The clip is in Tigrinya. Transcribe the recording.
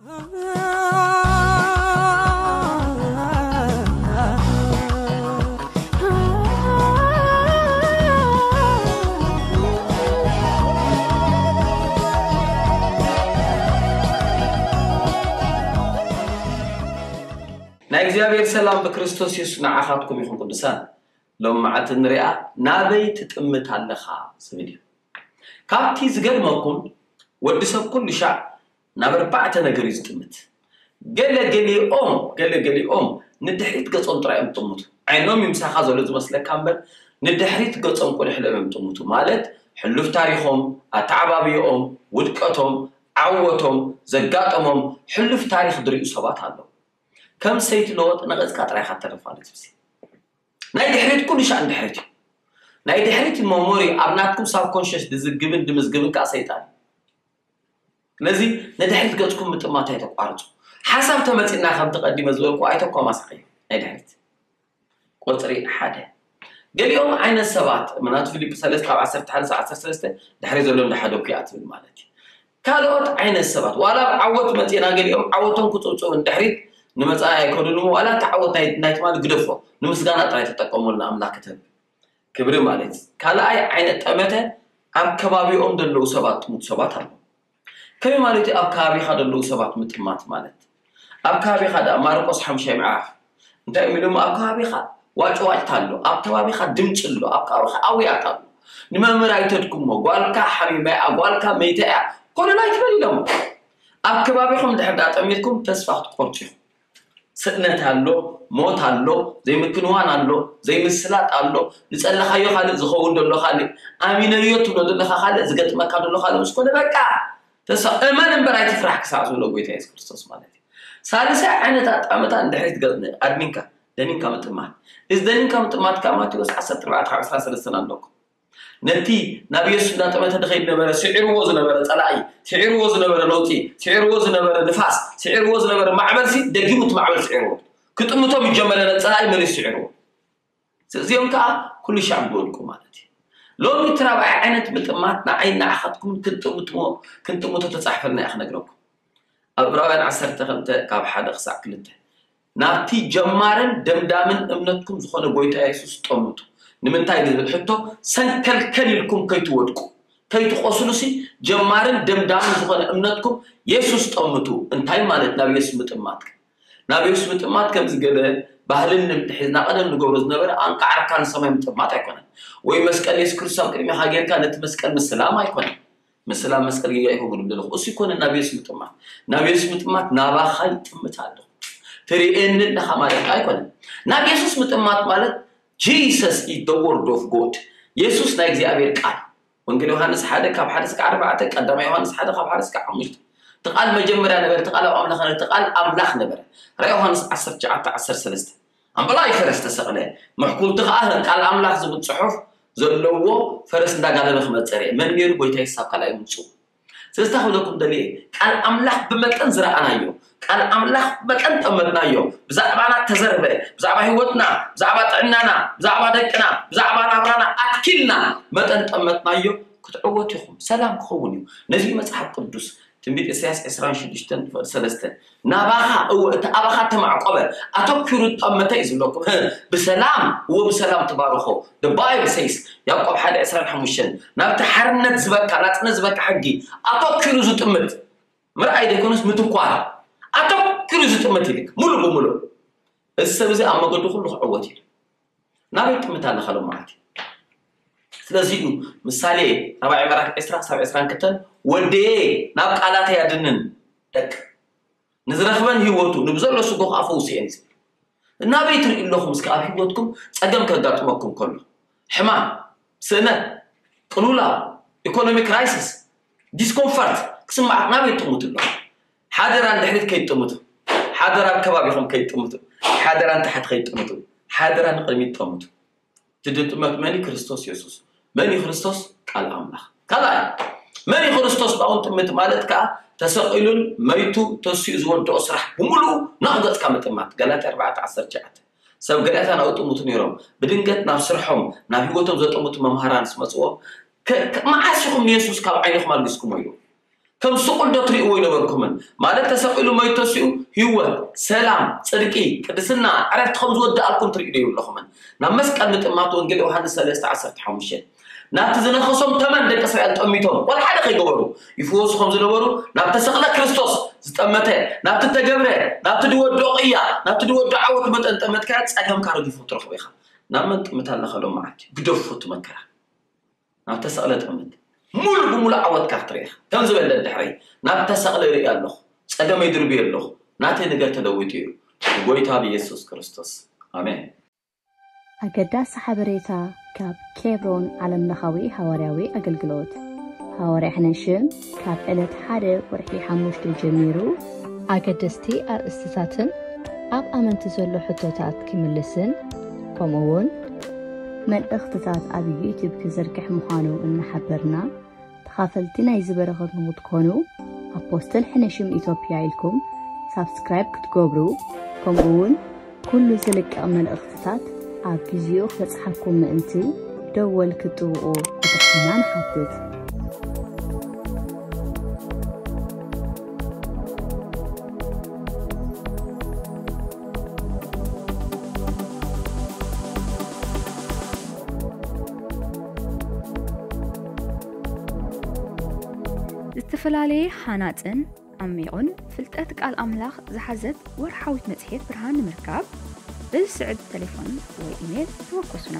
ናይ እግዚኣብሔር ሰላም ብክርስቶስ የሱስ ንዓኻትኩም ይኹን። ቅዱሳን፣ ሎም መዓልቲ ንሪኣ ናበይ ትጥምት ኣለኻ ዝብል እዩ። ካብቲ ዝገርመኩም፣ ወዲ ሰብ ኩሉ ሻዕ ናብ ኣርባዕተ ነገር እዩ ዝጥምት። ገለ ገሊኦም ገለ ገሊኦም ንድሕሪት ገጾም ጥራይ እዮም ዝጥምቱ። ዓይኖም ይምሳኻ ዘሎ ዝመስለካ እምበር፣ ንድሕሪት ገጾም ቁልሕሎም እዮም ዝጥምቱ። ማለት ሕሉፍ ታሪኾም፣ ኣተዓባብዮኦም፣ ውድቀቶም፣ ዓወቶም፣ ዘጋጠሞም ሕሉፍ ታሪኽ ዝርእዩ ሰባት ኣለዉ። ከም ሰይቲ ለወጥ ነቐጽካ ጥራይ ኢኻ ትተርፍ ማለት እዩ። ናይ ድሕሪት ኩሉ ሻዕ ንድሕሪት እዩ። ናይ ድሕሪት መሞሪ ኣብ ናትኩም ሳብኮንሽስ ድዝግብን ድምዝግብን ከዓ ሰይጣን እዩ። ስለዚ ንድሕሪት ገጽኩም ምጥማት ኣይተቋርጹ። ሓሳብ ተመጺና ከም ተቐዲመ ዝበልኩ ኣይተኳማስኸዮ። ናይ ድሕሪት ቁጽሪ ሓደ። ገሊኦም ዓይነት ሰባት ምናቱ ፊልጵ ሰለስተ ካብ ዓሰርተ ሓደ ዓሰርተ ሰለስተ ድሕሪ ዘሎ እንዳሓደኩ እያ ትብል ማለት እዩ። ካልኦት ዓይነት ሰባት ዋላ ኣብ ዓወት መጺና ገሊኦም ዓወቶም ክጽውጽው ንድሕሪት ንመጻኢ ኣይከዱን እሞ ዋላ እቲ ዓወት ናይ ናይ ትማሊ ግደፎ ንምስጋና ጥራይ ተጠቀመሉ ንኣምላክ ክትህብ ክብሪ ማለት እዩ። ካልኣይ ዓይነት ጠመተ ኣብ ከባቢኦም ዘለዉ ሰባት ጥሙት ሰባት ኣለዉ። ከመይ ማለት እዩ ኣብ ከባቢኻ ዘለዉ ሰባት ምጥማት ማለት? ኣብ ከባቢኻ ደኣ ማርቆስ ሓምሻይ ምዕራፍ እንታይ እዮም ኢሎም? ኣብ ከባቢኻ ዋጭዋጭታ ኣሎ፣ ኣብ ከባቢኻ ድምፂ ኣሎ፣ ኣብ ከባቢኻ ኣውያት ኣሎ። ንመምህር ኣይተድክሞ፣ ጓልካ ሓሚማ እያ፣ ጓልካ መይታ እያ፣ ኮነ ኣይትበል ኢሎም። ኣብ ከባቢኹም ድሕር ዳ ጠሚትኩም ተስፋ ክትቆርፁ ኢኹም። ስእነት ኣሎ፣ ሞት ኣሎ፣ ዘይምክንዋን ኣሎ፣ ዘይምስላጥ ኣሎ፣ ዝጸለኻዮ ካልእ ዝኸውን ዘሎ ካልእ፣ ኣሚነዮ ትብሎ ዘለኻ ካልእ ዝገጥመካ ዘሎ ካልእ ምስ ኮነ በቃ ተስፋ እመን እምበር ኣይትፍራሕ ክሳዕ ዝብሎ ጎይታ የሱስ ክርስቶስ ማለት እዩ። ሳልሳይ ዓይነት ኣጣመታ ንድሕሪት ገጽ ኣድኒንካ ደኒንካ ምጥማት። እዚ ደኒንካ ምጥማት ካብ ማቴዎስ ዓሰርተ ኣርባዕተ ካብ ዕስራን ሰለስተን ኣለኩም። ነቲ ናብ የሱስ እንዳጠመተ ድኸይድ ነበረ፣ ስዒርዎ ዝነበረ ጸላኢ፣ ስዒርዎ ዝነበረ ነውጺ፣ ስዒርዎ ዝነበረ ንፋስ፣ ስዒርዎ ዝነበረ ማዕበልሲ ደጊሙ እቲ ማዕበል ስዒርዎ። ክጥምቶም ዝጀመረ ነቲ ጸላኢ መሊሱ ስዒርዎ። እዚኦም ከኣ ኩሉ ሻዕ ዝወድቁ ማለት እዩ። ሎሚ እቲ ራብዓይ ዓይነት ምጥማት ንዓይ ንዓኻትኩም ክንጥምትሞ ክንጥምቶ ተጻሕፈልና እያ ክነግረኩም። ኣብ ዕብራውያን ዓሰርተ ክልተ ካብ ሓደ ክሳዕ ክልተ ናብቲ ጀማርን ደምዳምን እምነትኩም ዝኾነ ጎይታ የሱስ ጠምቱ። ንምንታይ ንዝብል ሕቶ ሰንከልከል ኢልኩም ከይትወድቁ ከይትቆስሉሲ ጀማርን ደምዳምን ዝኾነ እምነትኩም የሱስ ጠምቱ። እንታይ ማለት ናብ የሱስ ምጥማት? ናብ የሱስ ምጥማት ከምዚ ገለ ባህልን ልምዲ ሒዝና ቀደም ንገብሮ ዝነበረ ኣንቃዕርካ ንሰማይ ምጥማት ኣይኮነን። ወይ መስቀል የሱስ ክርስቶስ ኣብ ቅድሚኻ ጌርካ ነቲ መስቀል ምስላም ኣይኮነን። ምስላም መስቀል ጌጋ ኣይኮንኩን ዝብል ዘለኹ። እሱ ኣይኮነን ናብ የሱስ ምጥማት። ናብ የሱስ ምጥማት ናባኻ ይጥምት ኣለኹ። ትርእየኒ ኣለኻ ማለት ኣይኮነን። ናብ የሱስ ምጥማት ማለት Jesus is the word of God። የሱስ ናይ እግዚኣብሔር ቃል። ወንጌል ዮሃንስ ሓደ ካብ ሓደ እስከ ኣርባዕተ፣ ቀዳማይ ዮሃንስ ሓደ ካብ ሓደ እስከ ሓሙሽተ። እቲ ቃል መጀመርያ ነበረ፣ እቲ ቃል ኣብ ኣምላኽ ነበረ፣ እቲ ቃል ኣምላኽ ነበረ። ራእይ ዮሃንስ ዓሰርተ ትሽዓተ ዓሰርተ ሰለስተ። ኣምበላይ ፈረስ ተሰቕለ፣ ምሕኩልቲ ኸዓ ቃል ኣምላኽ ዝብል ጽሑፍ ዘለዎ ፈረስ እንዳጋለበ ክመጽእ ርኤ። መን ነይሩ? ጎይታ የሱስ ኣብ ካልኣይ ምምጽኡ። ስለዚ እንታይ ክብለኩም ደልየ፣ ቃል ኣምላኽ ብመጠን ዝረኣናዮ፣ ቃል ኣምላኽ ብመጠን ጠመትናዮ፣ ብዛዕባና ተዘርበ፣ ብዛዕባ ህይወትና፣ ብዛዕባ ጥዕናና፣ ብዛዕባ ደቅና፣ ብዛዕባ ናብራና ኣትኪልና መጠን ጠመትናዮ፣ ክትዕወቱ ኢኹም። ሰላም ክኸውን እዩ። ነዚ መጽሓፍ ቅዱስ ትንቢት ኢሳያስ ዕስራን ሽዱሽተን ፍቕዲ ሰለስተ ናባኻ፣ እወ፣ እቲ ኣባኻ ተማዕቆበ፣ ኣተኲሩ ዝጠመተ እዩ ዝብለኩም። ብሰላም፣ እወ፣ ብሰላም ትባርኾ። The Bible says፣ ያዕቆብ ሓደ ዕስራን ሓሙሽተን፣ ናብቲ ሓርነት ዝበካ፣ ናጽነት ዝበካ ሕጊ ኣተኲሩ ዝጥምት፣ ምርኣይ ዘይኮነስ ምትኳር፣ ኣተኲሩ ዝጥምት ይልክ፣ ሙሉ ብሙሉ። እዚ ሰብ እዚ ኣብ መገዱ ኩሉ ክዕወት እዩ። ናበይ ትጥምት ኣለኻ ሎም መዓልቲ? ስለዚ እዩ ምሳሌ ራብዓይ ምዕራፍ ዕስራ ክሳብ ዕስራን ክልተን፣ "ወደየ ናብ ቃላተይ ኣድንን፣ ደቅ ንዝረኽበን ህይወቱ፣ ንብዘሎ ስጎ ከኣ ፈውስየን" እዩ ዝብል። ናበይ ትርእዩ ኣለኹም? እስከ ኣብ ህይወትኩም ጸገም ከጋጥመኩም ከሎ፣ ሕማም፣ ስእነት፣ ቅልውላው፣ ኢኮኖሚ ክራይሲስ፣ ዲስኮምፈርት ክስምዓት ናበይ ትጥምቱ ኣለኹም? ሓደራ ንድሕሪት ከይትጥምቱ፣ ሓደራ ኣብ ከባቢኹም ከይትጥምቱ፣ ሓደራ ንታሕቲ ከይትጥምቱ፣ ሓደራ ንቕድሚት ጥምቱ። እቲ ዝጥመት መን እዩ? ክርስቶስ የሱስ። መን እዩ ክርስቶስ? ቃል ኣምላኽ። ካልኣይ፣ መን እዩ ክርስቶስ? ብኣውን ጥምት ማለት ከኣ ተሰቒሉን መይቱ ተሲኡ ዝወደኦ ስራሕ ብምሉኡ ናብኡ ገጽካ ምጥማት። ጋላትያ ኣርባዕተ ዓሰርተ ትሽዓተ። ሰብ ገላትያ ናብኡ ጥምቱ ነይሮም። ብድንገት ናብ ስርሖም፣ ናብ ህይወቶም ዘጥምቱ መምሃራን ምስ መጽዎም፣ ከ-፣ ከ-፣ መዓስ ኢኹም ንየሱስ ካብ ዓይንኹም ኣልጊስኩሞ ኢሉ። ከም ስቑል ዶ ትርእይዎ ይነበሩ? የብልኩምን። ማለት ተሰቒሉ ሞይቱ ተሲኡ ህይወት፣ ሰላም፣ ጽድቂ፣ ቅድስና፣ ዕረፍቲ ከም ዝወድኣልኩም ትርእዩ ዶ የብልኩምን? ናብ መስቀል ምጥማት ወንጌል ዮሃንስ ሰለስተ ዓሰርተ ሓሙሽተ። ናብቲ ዝነኸሶም ተመን ደቂ እስራኤል ጠሚቶም ዋላ ሓደ ከይገበሩ ይፍወሱ ከም ዝነበሩ፣ ናብ ተሰቕለ ክርስቶስ ዝጠመተ፣ ናብቲ ተገብረ፣ ናብቲ ድወዶ ቅያ፣ ናብቲ ድወዶ ዓወት መጠን ጠመትካዮ ጸገምካ ረጊፉ ክትረኽቦ ኢኻ። ናብ መን ጥምት ኣለኻ ሎም መዓልቲ? ግደፉ እቲ መከራ። ናብ ተሰቕለ ጥምት። ሙሉ ብሙሉ ዓወትካ ክትርኢ ኢኻ። ከም ዝበለ ድሕረይ፣ ናብ ተሰቕለ ይርኢ ኣለኹ። ጸገመይ ድርብየ ኣለኹ። ናተይ ነገር ተለዊጡ እዩ። ብጎይታ ብኢየሱስ ክርስቶስ። ኣሜን። ኣገዳሲ ሓበሬታ ካብ ኬብሮን ዓለምለኻዊ ሃዋርያዊ ኣገልግሎት። ሃዋርያ ሕነሽም ካብ ዕለት ሓደ ወርሒ ሓሙሽተ ጀሚሩ ኣገደስቲ ኣርእስትታትን ኣብ ኣመንቲ ዘሎ ሕቶታት ክምልስን፣ ከምኡ እውን መልእኽትታት ኣብ ዩቲዩብ ክዝርግሕ ምዃኑ እናሓበርና፣ ተኻፈልቲ ናይዚ በረኸት ንኽትኮኑ፣ ኣፖስትል ሕነሽም ኢትዮጵያ ኢልኩም ሳብስክራይብ ክትገብሩ፣ ከምኡ እውን ኩሉ ዝልቀቕ መልእኽትታት ኣብ ግዜኡ ክበጽሓኩም ምእንቲ ደወል ክትጥውቑ ብትሕትና ንሓትት። ዝተፈላለየ ሃናጽን ዓሚቑን ፍልጠት ቃል ኣምላኽ ዝሓዘት ወርሓዊት መጽሔት ብርሃን ንምርካብ፣ በዚ ስዕብ ተሌፎን ወይ ኢሜል ተወከሱና።